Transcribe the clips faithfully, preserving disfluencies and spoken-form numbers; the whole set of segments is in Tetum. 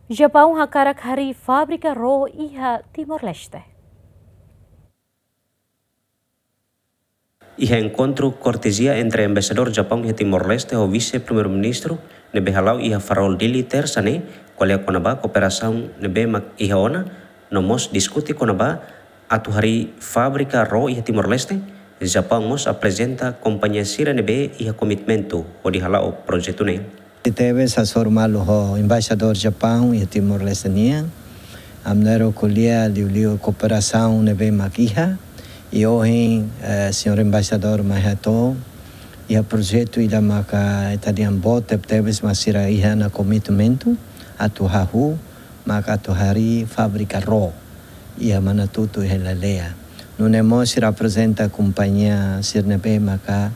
Japaun hakarak harii fábrika ró iha Timor-Leste. Iha enkontru kortezia entre Embaixadór Japaun iha Timor-Leste ho Vise Primeiru-Ministru ne'ebé hala'o iha Farol Dili, Tersa ne'e, ko'alia kona-ba kooperasaun ne'ebé mak iha ona, no mós diskute kona-ba atu harii fábrika ró iha Timor-Leste. Japaun mós aprezenta kompañia sira ne'ebé iha komitmentu hodi hala'o projetu ne'e. Tebes hasoru malu ho Embaixadór Japaun iha Timor-Leste nian. Ami na'in-rua ko'alia liuliu kooperasaun ne'ebé mak iha. I ohin, eh, señór Embaixadór mai hato'o iha projetu ida maka ita dehan boot tebetebes, mas sira iha ona komitmentu atu hahú, maka atu harii fábrika ró iha Manatutu, iha Lelea. Nune'e mós sira aprezenta kompañia sira ne'ebé maka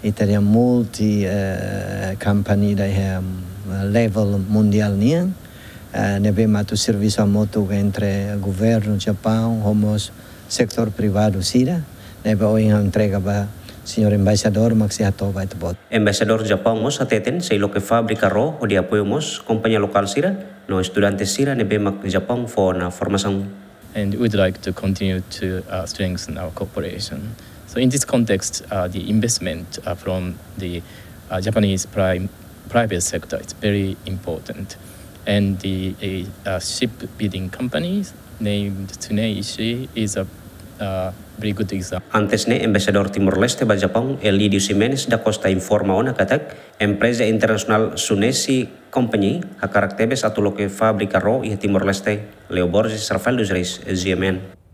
ita dehan multi, eh, company ida iha, eh, level mundiál nian, eh, ne'ebé mak atu servisu hamutuk entre governu Japaun ho mós setór privadu sira, ne'ebé ohin ha'u entrega ba señór Embaixadór mak sei hato'o ba ita-boot. Embaixadór Japaun mós hateten sei loke fábrika ró hodi apoiu mós kompañia lokál sira no estudante sira ne'ebé mak Japaun fó ona formasaun. And we'd like to continue to, uh, strengthen our cooperation. So in this context, uh, the investment, uh, from the, uh, Japanese prime, private sector is very important. And the, uh, uh, shipbuilding company named Tsuneishi is a, uh, very good example. Antes ne'e, Embaixadór Timor-Leste ba Japaun, Elídio Ximenes da Costa, informa ona katak empreza internasionál Tsuneishi Company hakarak tebes atu loke fábrika ró iha Timor-Leste. Leo Borges, Rafael dos Reis, G M N.